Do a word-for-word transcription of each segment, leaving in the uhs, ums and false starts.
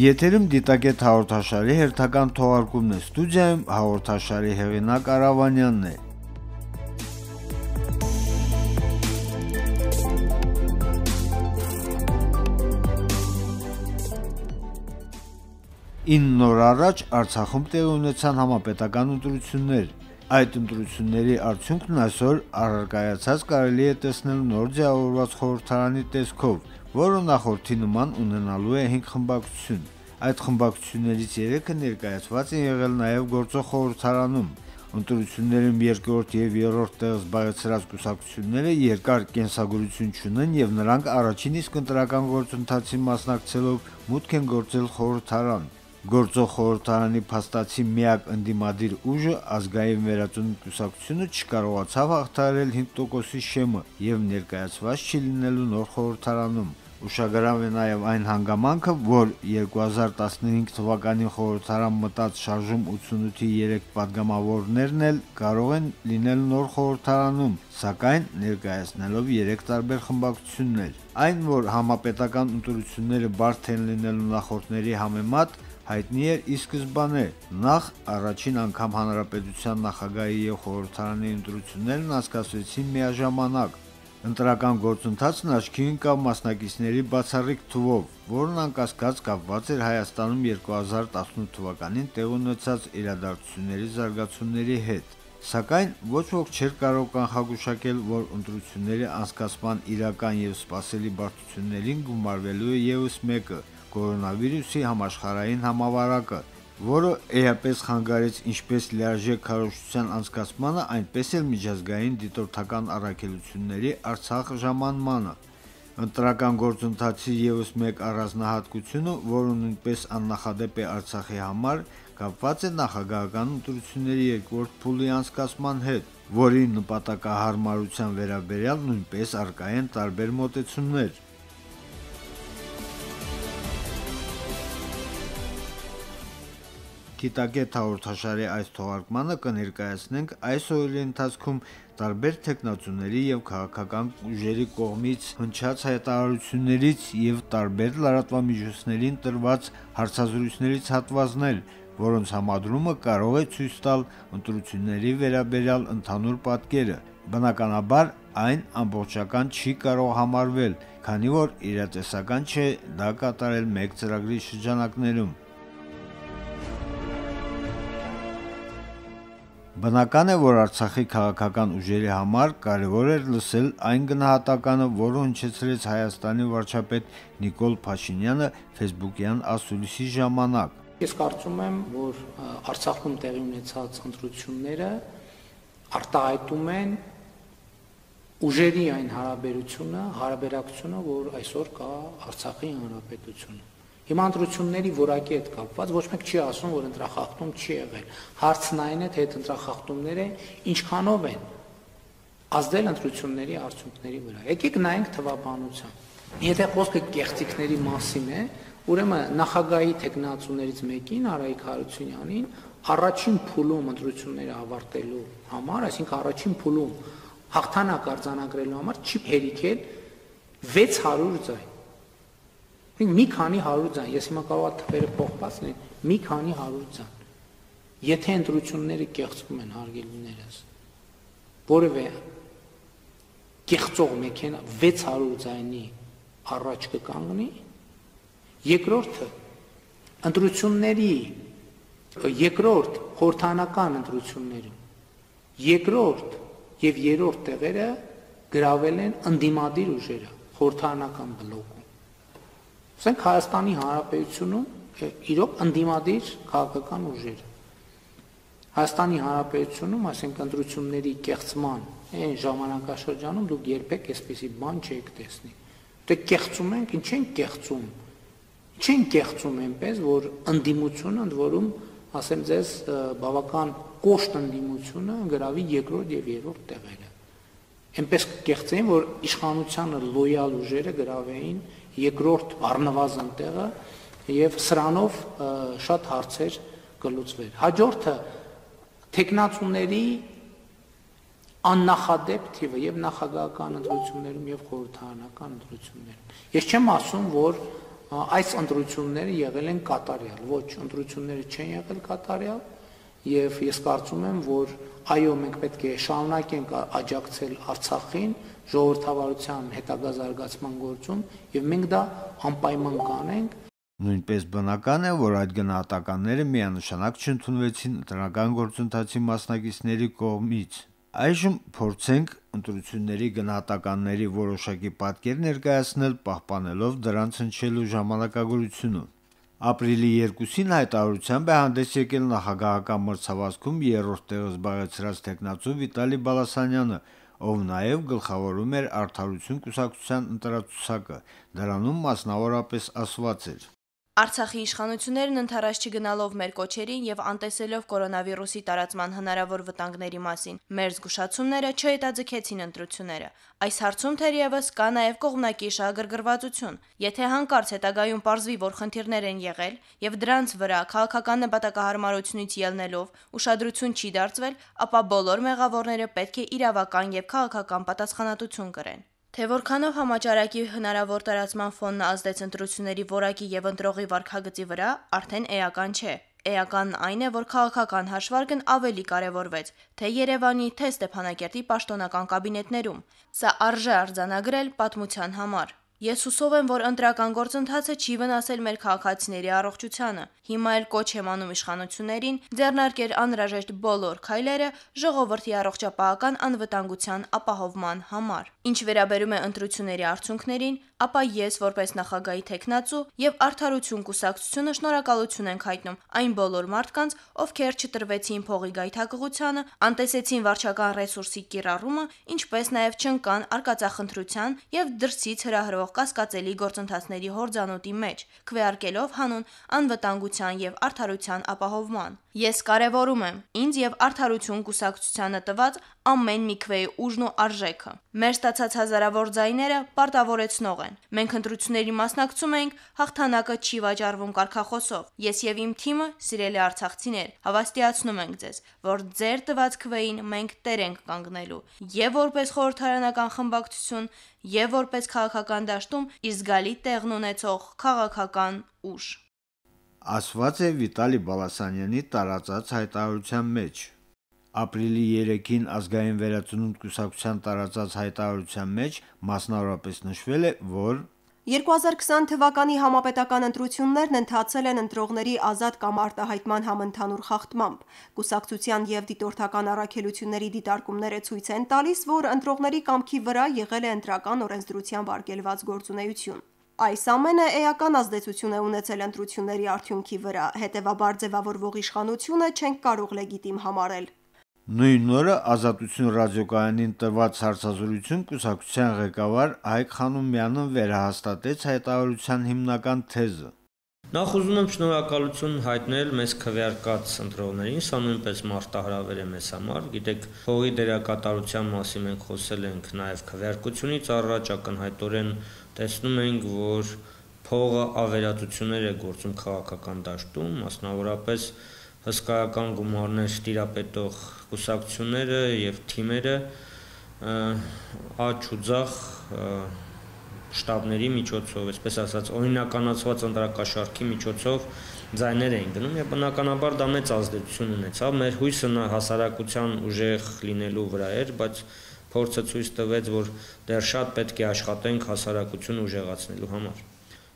Եթերում դիտակետ հաղորդաշարի հերթական թողարկումն է, ստուդիայում հաղորդաշարի հեղինակ Արավանյանն է։ ինը օր առաջ Արցախում տեղի ունեցան համապետական ընտրություններ։ Այդ ընտրությունների արդյունքն այսօր առարկայացած կարելի է տեսնել նոր ձևավորված խորհրդարանի տեսքով, որը նախորդի նման ունենալու է հինգ խմբակցություն։ Այդ խմբակցություններից երեքը ներկայացված են եղել նաև գործող խորհրդարանում։ Ընտրություններում երկրորդ և երրորդ տեղ զբաղեցրած կուսակցությունները երկար կենսագրություն չունեն և նրանք առաջին իսկ ընտրական գործընթացին մասնակցելով մուտք են գործել խորհրդարան։ Գործող խորհրդարանի փաստացի միակ ընդդիմադիր ուժը ազգային վերածնունդ կուսակցությունը չկարողացավ հաղթահարել հինգ տոկոսի շեմը և ներկայացված չի լինելու նոր խորհրդարանում։ Ուշագրավ է նաև այն հանգամանքը, որ երկու հազար տասնհինգ թվականին խորհրդարան մտած շարժում ութսունութի երեք պատգամավորներն էլ կարող են լինել նոր խորհրդարանում, սակայն ներկայացնելով երեք տարբեր խմբակցություններ։ Այն, որ համապետական ընտրությունները բարդ են լինելու նախորդների համեմատ, հայտնի էր ի սկզբանե։ Նախ առաջին անգամ հանրապետության նախագահի և խորհրդարանի ընտրություններն անցկացվեցին միաժամանակ։ Ընտրական գործընթացն աչքի ընկավ մասնակիցների բացառիկ թվով, որն անկասկած կապված էր Հայաստանում երկու հազար տասնութ թվականին տեղի ունեցած իրադարձությունների զարգացումների հետ։ Սակայն ոչ ոք չէր կարող կանխագուշակել, որ ընտրությունների անցկացման իրական և սպասելի բարդություններին գումարվելու է ևս մեկը՝ կորոնավիրուսի համաշխարհային համավարակը, որը էապես խանգարեց ինչպես լիարժեք քարոզչության անցկացմանը, այնպես էլ միջազգային դիտորդական առաքելությունների Արցախ ժամանմանը։ Ընտրական գործընթացի ևս մեկ առանձնահատկությունը, որը նույնպես աննախադեպ է Արցախի համար, կապված է նախագահական ընտրությունների երկրորդ փուլի անցկացման հետ, որի նպատակահարմարության վերաբերյալ նույնպես առկա են տարբեր մոտեցումներ։ Դիտակետ հաղորդաշարի այս թողարկմանը կներկայացնենք այս օրերի ընթացքում տարբեր թեկնածուների և քաղաքական ուժերի կողմից հնչած հայտարարություններից և տարբեր լրատվամիջոցներին տրված հարցազրույցներից հատվածներ, որոնց համադրումը կարող է ցույց տալ ընտրությունների վերաբերյալ ընդհանուր պատկերը։ Բնականաբար, այն ամբողջական չի կարող համարվել, քանի որ իրատեսական չէ դա կատարել մեկ ծրագրի շրջանակներում։ Բնական է, որ Արցախի քաղաքական ուժերի համար կարևոր էր լսել այն գնահատականը, որը հնչեցրեց Հայաստանի վարչապետ Նիկոլ Փաշինյանը ֆեյսբուքյան ասուլիսի ժամանակ։ Ես կարծում եմ, որ Արցախում տեղի ունեցած ընտրությունները արտահայտում են ուժերի այն հարաբերությունը, հարաբերակցությունը, որ այսօր կա Արցախի հանրապետությունում։ Հիմա ընտրությունների որակի հետ կապված ոչ մեկ չի ասում, որ ընտրախախտում չի եղել։ Հարցն այն է, թե այդ ընտրախախտումները ինչքանով են ազդել ընտրությունների արդյունքների վրա։ Եկեք նայենք թվաբանության։ Եթե խոսքը կեղծիքների մասին է, ուրեմն նախագահի թեկնածուներից մեկին Արայիկ Հարությունյանին առաջին փուլում ընտրությունները ավարտելու համար, այսինքն առաջին փուլում հաղթանակ արձանագրելու համար չի հերիքել վեց հարյուր ձայն։ Մի քանի հարյուր ձայն, ես հիմա կարող եմ թվերը փոխված լինեն, մի քանի հարյուր ձայն։ Եթե ընտրությունները կեղծվում են, հարգելիներս, որևէ կեղծող մեքենա վեց հարյուր ձայնի առաջ կկանգնի, երկրորդը ընտրությունների երկրորդ խորհրդարանական ընտրություններում երկրորդ եւ երրորդ տեղերը գրավել են ընդդիմադիր ուժերը խորհրդարանական բլոկում։ Ասենք Հայաստանի Հանրապետությունում իրոք ընդդիմադիր քաղաքական ուժեր։ Հայաստանի Հանրապետությունում, այսինքն ընտրությունների կեղծման այն ժամանակաշրջանում դուք երբեք այսպիսի բան չեք տեսնի։ Դե կեղծում ենք, ինչ են կեղծում։ Ինչ են կեղծում այնպես, որ ընդդիմությունը ընդ որում, ասեմ ձեզ, բավական կոշտ ընդդիմությունը գրավի երկրորդ եւ երրորդ տեղերը։ Այնպես կեղծեին, որ իշխանությանը լոյալ ուժերը գրավեին երկրորդ առնվազն տեղը եւ սրանով շատ հարցեր կլուծվեր։ Հաջորդը թեկնածուների աննախադեպ թիվը եւ նախագահական ընտրություններում եւ խորհրդարանական ընտրություններում։ Ես չեմ ասում, որ այս ընտրությունները եղել են կատարյալ, ոչ, ընտրությունները չեն եղել կատարյալ, եւ ես կարծում եմ, որ այո, մենք պետք է շարունակենք աջակցել Արցախին ժողովրդավարության հետագա զարգացման գործում եւ մենք դա անպայման կանենք։ Նույնպես բնական է, որ այդ գնահատականները միանշանակ չընդունվեցին տնտեսական գործընթացի մասնակիցների կողմից։ Այժմ փորձենք ընտրությունների գնահատականների որոշակի պատկեր ներկայացնել, պահպանելով դրանց հնչելու ժամանակագրությունը։ Ապրիլի երկուսին հայտարարությամբ է հանդես եկել նախագահական մրցավազքում երրորդ տեղը զբաղեցրած տեխնացու Վիտալի Բալասանյանը, ով նաև գլխավորում էր Արդարություն կուսակցության ընտրացուցակը, դրանում մասնավորապես ասված էր. Արցախի իշխանություններն ընդառաջ չգնալով մեր կոչերին եւ անտեսելով կորոնավիրուսի տարածման հնարավոր վտանգների մասին, մեր զգուշացումները չհետաձգեցին ընտրությունները։ Այս հարցում թերևս կա նաեւ կողմնակի շահագրգռվածություն։ Եթե հանկարծ հետագայում պարզվի, որ խնդիրներ են եղել եւ դրանց վրա քաղաքական նպատակահարմարությունից ելնելով ուշադրություն չի դարձվել, ապա բոլոր մեղավորները պետք է իրավական եւ քաղաքական պատասխանատվություն կրեն։ Թե որքանով համաճարակի հնարավոր տարածման ֆոնն ազդեց ընտրությունների որակի եւ ընտրողի վարքագծի վրա, արդեն էական չէ։ Էականն այն է, որ քաղաքական հաշվարկն ավելի կարևորվեց, թե Երևանի, թե Ստեփանակերտի պաշտոնական կաբինետներում։ Սա արժե արձանագրել պատմության համար։ Ես հուսով եմ, որ ընտրական գործընթացը չի վնասել մեր քաղաքացիների առողջությանը։ Հիմա էլ կոչ եմ անում իշխանություններին ձեռնարկել անհրաժեշտ բոլոր քայլերը ժողովրդի առողջապահական անվտանգության ապահովման համար։ Ինչ վերաբերում է ընտրությունների արդյունքներին, ապա ես որպես նախագահի տեխնացու եւ Արդարություն կուսակցությունը շնորհակալություն ենք հայտնում այն բոլոր մարդկանց, ովքեր չտրվեցին փողի գայթակղությանը, անտեսեցին վարչական ռեսուրսի կիրառումը, ինչպես նաեւ չընկան արկածախնդրության եւ դրսից հրահրող կասկածելի գործընթացների հորձանուտի մեջ, քվեարկելով հանուն անվտանգության եւ արդարության ապահովման։ Ես կարևորում եմ ինձ եւ Արդարություն կուսակցությանը տված ամեն մի քվեի ուժն ու արժեքը։ Մեր ստացած հազարավոր ձայները պարտավորեցնող են։ Մենք ընտրությունների մասնակցում ենք, հաղթանակը չի վաճառվում կարգախոսով։ Ես եւ իմ թիմը, սիրելի արցախցիներ, հավաստիացնում ենք ձեզ, որ ձեր տված քվեին մենք տեր ենք կանգնելու, եւ որպես խորհրդարանական խմբակցություն, եւ որպես քաղաքական դաշտում իր զգալի տեղն ունեցող քաղաքական ուժ։ Ասված է Վիտալի Բալասանյանի տարածած հայտարարության մեջ։ Ապրիլի երեքին ազգային վերածնունդ կուսակցության տարածած հայտարարության մեջ մասնավորապես նշվել է, որ երկու հազար քսան թվականի համապետական ընտրություններն ընթացել են ընտրողների ազատ կամ արտահայտման համընդհանուր խախտմամբ։ Կուսակցության եւ դիտորդական առաքելությունների դիտարկումները ցույց են տալիս, որ ընտրողների կամքի վրա եղել է ընտրական օրենսդրությամբ արգելված գործունեություն։ Այս ամենը էական ազդեցություն է ունեցել ընտրությունների արդյունքի վրա, հետևաբար ձևավորվող իշխանությունը չենք կարող լեգիտիմ համարել։ Նույն օրը Ազատություն ռադիոկայանին տված հարցազրույցում կուսակցության ղեկավար Հայկ Խանոմյանը վերահաստատեց հայտարարության հիմնական թեզը։ Նախ ուզում եմ շնորհակալություն հայտնել մեզ քվեարկած ընտրողներին, սա նույնպես մարտահրավեր է մեզ համար։ Գիտեք, փողի դերակատարության մասին մենք խոսել ենք նաև քվեարկությունից առաջ, ակնհայտորեն տեսնում ենք, որ փողը ավերածություններ է գործում քաղաքական դաշտում, մասնավորապես հսկայական գումարներ տիրապետող կուսակցությունները եւ թիմերը աճ ու ձախ շտաբների միջոցով, այսպես ասած, օրինականացված ընտրակաշարքի միջոցով ձայներ էին գնում եւ բնականաբար դա մեծ ազդեցություն ունեցավ։ Մեր հույսը հասարակության ուժեղ լինելու վրա էր, բայց փորձը ցույց տվեց, որ դեռ շատ պետք է աշխատենք հասարակություն ուժեղացնելու համար։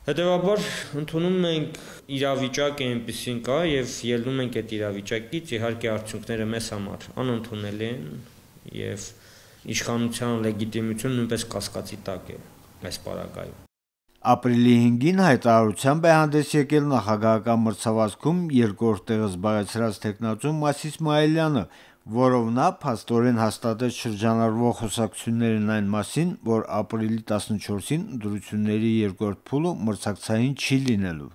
Հետևաբար ընդունում ենք իրավիճակը այնպեսին կա եւ ելնում ենք այդ իրավիճակից, իհարկե արդյունքները մեզ համար անընդունելի են եւ իշխանության լեգիտիմությունը նույնպես կասկածի տակ է այս պարագայում։ Ապրիլի հինգին հայտարարությամբ է հանդես եկել նախագահական մրցավազքում երկրորդ տեղը զբաղեցրած տեխնացու Մաս Իսմայելյանը, որով նա փաստորեն հաստատեց շրջանառվող խոսակցություններն այն մասին, որ ապրիլի տասնչորսին ընտրությունների երկրորդ փուլը մրցակցային չի լինելու։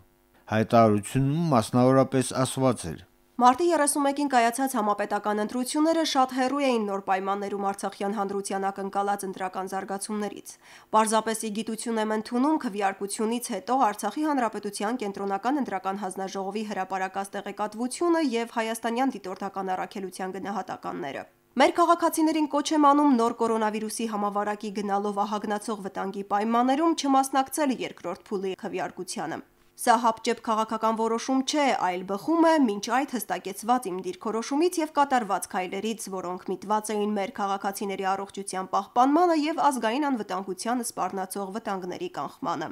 Հայտարարությունում մասնավորապես ասված էր. Մարտի երեսունմեկին կայացած համապետական ընտրությունները շատ հեռու էին նոր պայմաններում Արցախյան հանրության ակնկալած ընտրական զարգացումներից։ Պարզապես ի գիտություն եմ ընդունում քվեարկությունից հետո Արցախի Հանրապետության կենտրոնական ընտրական հանձնաժողովի հրապարակած տեղեկատվությունը եւ հայաստանյան դիտորդական առաքելության գնահատականները։ Մեր քաղաքացիներին կոչ եմ անում նոր կորոնավիրուսի համավարակի գնալով ահագնացող վտանգի պայմաններում չմասնակցել երկրորդ փուլի քվեարկությանը։ Սա հապճեպ քաղաքական որոշում չէ, այլ բխում է մինչ այդ հստակեցված իմ դիրքորոշումից եւ կատարված քայլերից, որոնք միտված էին մեր քաղաքացիների առողջության պահպանմանը եւ ազգային անվտանգությանը սպառնացող վտանգների կանխմանը։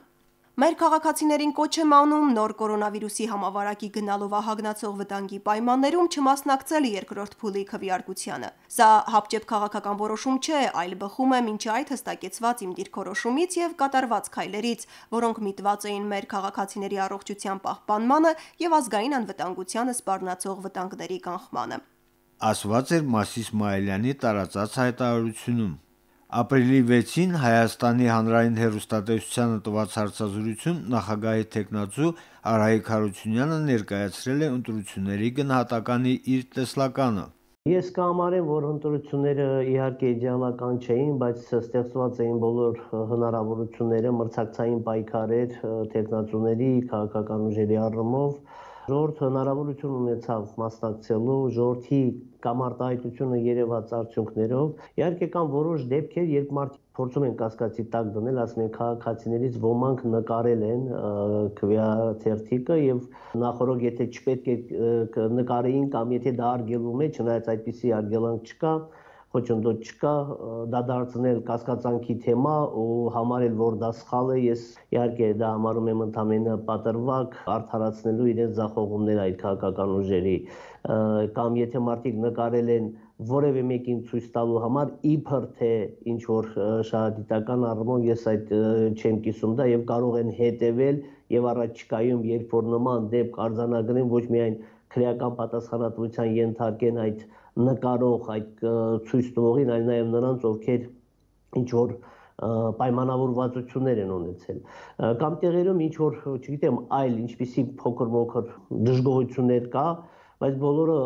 Մեր քաղաքացիներին կոչ եմ անում նոր կորոնավիրուսի համավարակի գնալով ահագնացող վտանգի պայմաններում չմասնակցել երկրորդ փուլի քվեարկությանը։ Սա հապճեպ քաղաքական որոշում չէ, այլ բխում է մինչ այդ հստակեցված իմ դիրքորոշումից եւ կատարված քայլերից, որոնք միտված էին մեր քաղաքացիների առողջության պահպանմանը եւ ազգային անվտանգությանը սպառնացող վտանգների կանխմանը։ Ասված էր Մասիս Իսմայելյանի տարածած հայտարարությունում։ Ապրիլի վեցին Հայաստանի հանրային հեռուստատեսությանը տված հարցազրույցում նախագահի թեկնածու Արայիկ Հարությունյանը ներկայացրել է ընտրությունների գնահատականի իր տեսլականը։ Ես կհամարեմ, որ ընտրությունները իհարկե իդեալական չէին, բայց ստեղծված էին բոլոր հնարավորությունները, մրցակցային պայքարեր թեկնածուների, քաղաքական ուժերի առումով։ Ժողովուրդը հնարավորություն ունեցավ մասնակցելու, ժողովրդի կամարտահայտությունը երևաց արդյունքներով։ Իհարկե կան որոշ դեպքեր, երբ մարդիկ փորձում են կասկածի տակ դնել, ասում են քաղաքացիներից ոմանք նկարել են քվեաթերթիկը եւ նախորդ եթե չպետք է նկարեին կամ եթե դա արգելվում է, չնայած այդպիսի արգելանք չկա, խոչընդոտ չկա, դա դարձնել կասկածանքի թեմա ու համարել, որ դա սխալ է, ես իհարկե դա համարում եմ ընդամենը պատրվակ արդարացնելու իրենց ձախողումները այդ քաղաքական ուժերի, կամ եթե մարդիկ նկարել են որևէ մեկին ցույց տալու համար, իբր թե ինչ որ շահադիտական առումով ես այդ չեմ կիսում դա եւ կարող են հետեւել եւ առաջիկայում երբ որ նման դեպք արձանագրեն ոչ միայն քրեական պատասխանատվության ենթարկեն այդ նկարող այդ ցույց տվողին, այլ նաև նրանց, ովքեր ինչ որ պայմանավորվածություններ են ունեցել։ Կամ տեղերում ինչ որ, չգիտեմ, այլ ինչպիսի փոքր-մոքր դժգոհություններ կա, բայց բոլորը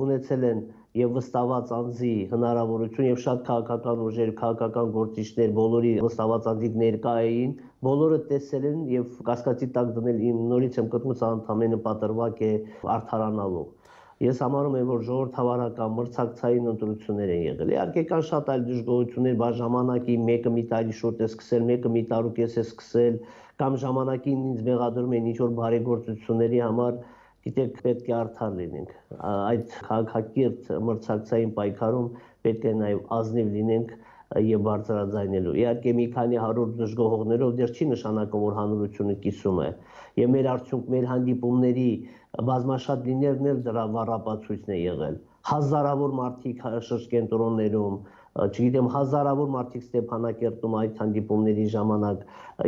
ունեցել են եւ վստահված անձի հնարավորություն եւ շատ քաղաքական ուժեր, քաղաքական գործիչներ բոլորի վստահված անձիկ ներկա էին, բոլորը տեսել են եւ կասկածի տակ դնել իմ նորից եմ կրկնում, սա ընդամենը պատրվակ է արդարանալու։ Ես համարում եմ, որ ժողովրդավարական մրցակցային ընտրություններ են եղել։ Իհարկե կան շատ այլ դժգոհություններ, բա ժամանակի մեկը մի տարի շուտ է սկսել, մեկը մի տարուկես է սկսել, կամ ժամանակին ինձ մեղադրում են ինչ որ բարեգործությունների համար, գիտեք, պետք է արդար լինենք։ Այդ քաղաքակիրթ մրցակցային պայքարում պետք է նաև ազնիվ լինենք եւ բարձրաձայնելու։ Իհարկե մի քանի հարյուր դժգոհողներով դեռ չի նշանակում, որ հանրությունը կիսում է։ Եվ մեր արդյունք, մեր հանդիպումների բազմաշատ լինելն էլ դրա վառապացույցն է եղել։ Հազարավոր մարդիկ շրջկենտրոններում, չգիտեմ, հազարավոր մարդիկ Ստեփանակերտում այդ հանդիպումների ժամանակ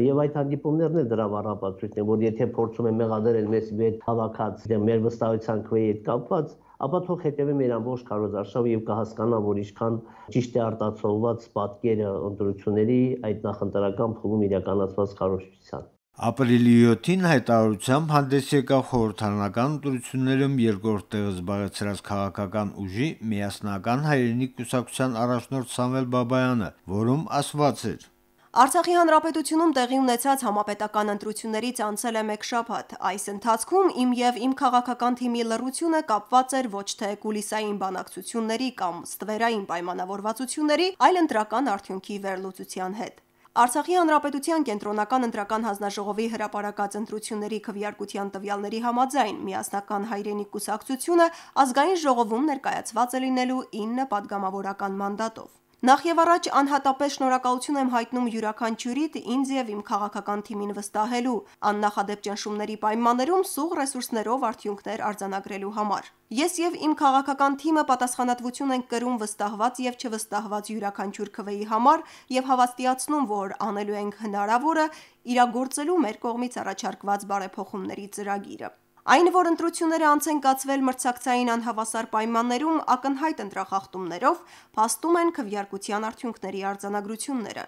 եւ այդ հանդիպումներն էլ դրա վառապացույցն է, որ եթե փորձում են մեղադրել մեզ վեր հավաքած մեր վստահության քվեի հետ կապված, ապա թող հետևի մեր ամբողջ քարոզարշավը եւ կհասկանա, որ ինչքան ճիշտ է արտացոլված պատկերը ընտրությունների այդ նախընտրական փուլում իրականացված քարոզչության։ Ապրիլի յոթին հայտարարությամբ հանդես եկավ խորհրդարանական ընտրություններում երկրորդ տեղը զբաղեցրած քաղաքական ուժի միասնական հայրենիք կուսակցության առաջնորդ Սամվել Բաբայանը, որում ասված էր. Արցախի հանրապետությունում տեղի ունեցած համապետական ընտրություններից անցել է մեկ շաբաթ։ Այս ընթացքում իմ եւ իմ քաղաքական թիմի լռությունը կապված էր ոչ թե կուլիսային բանակցությունների կամ ստվերային պայմանավորվածությունների, այլ ընտրական արդյունքի վերլուծության հետ։ Արցախի հանրապետության կենտրոնական ընտրական հանձնաժողովի հրապարակած ընտրությունների քվեարկության տվյալների համաձայն միասնական հայրենիք կուսակցությունը ազգային ժողովում ներկայացված է լինելու ինը падգամավորական մանդատով։ Նախ եւ առաջ անհատապես շնորհակալություն եմ հայտնում յուրաքանչյուրիդ ինձ եւ իմ քաղաքական թիմին վստահելու, աննախադեպ ճնշումների պայմաններում սուղ ռեսուրսներով արդյունքներ արձանագրելու համար։ Ես եւ իմ քաղաքական թիմը պատասխանատվություն ենք կրում վստահված եւ չվստահված յուրաքանչյուր քվեի համար եւ հավաստիացնում, որ անելու ենք հնարավորը իրագործելու մեր կողմից առաջարկված բարեփոխումների ծրագիրը։ Այն, որ ընտրությունները անց են կացվել մրցակցային անհավասար պայմաններում ակնհայտ ընտրախախտումներով, փաստում են քվեարկության արդյունքների արձանագրությունները։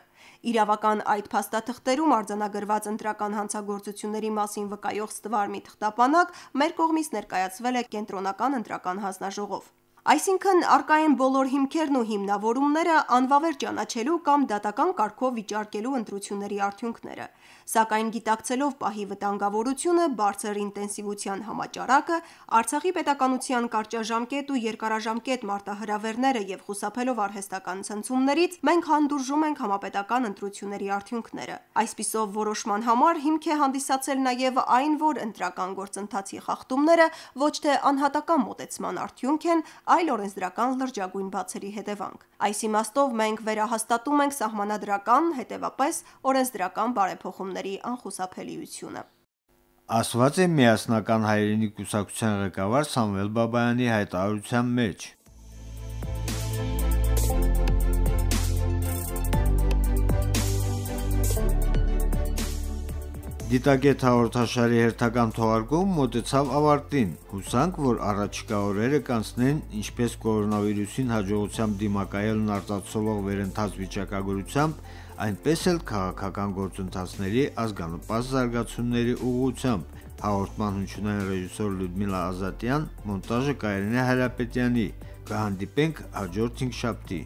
Իրավական այդ փաստաթղթերում արձանագրված ընտրական հանցագործությունների մասին վկայող ստվար մի թղթապանակ մեր կողմից ներկայացվել է կենտրոնական ընտրական հանձնաժողով։ Այսինքն արկա են բոլոր հիմքերն ու հիմնավորումները անվավեր ճանաչելու կամ դատական կարգով վիճարկելու ընտրությունների արդյունքները։ Սակայն գիտակցելով պահի վտանգավորությունը, բարձր ինտենսիվության համաճարակը, Արցախի պետականության կարճաժամկետ ու երկարաժամկետ մարտահրավերները եւ խուսափելով արհեստական ցնցումներից, մենք հանդուրժում ենք համապետական ընտրությունների արդյունքները։ Այսպիսով որոշման համար հիմք է հանդիսացել նաեւ այն, որ ընտրական գործընթացի խախտումները ոչ թե անհատական մոտեցման արդյունք են, այլ օրենսդրական լրջագույն բացերի հետևանք։ Այս իմաստով մենք վերահաստատում ենք սահմանադրական, հետևապես օրենսդրական բարեփոխումների անխուսափելիությունը։ Ասված է Միասնական հայրենի կուսակցության ղեկավար Սամվել Բաբայանի հայտարարության մեջ։ Դիտակետ հաղորդաշարի հերթական թողարկում մոտեցավ ավարտին։ Հուսանք, որ առաջիկա օրերը կանցնեն ինչպես կորոնավիրուսին հաջողությամբ դիմակայելն արտացոլող վերընթաց վիճակագրությամբ, այնպես էլ քաղաքական գործընթացների ազգանպաստ զարգացումների ուղղությամբ։ Հաղորդման հնչյունային ռեժիսոր Լյուդմիլա Ազատյան, մոնտաժը Կարինե Հայրապետյանի։ Կհանդիպենք հաջորդ հինգշաբթի։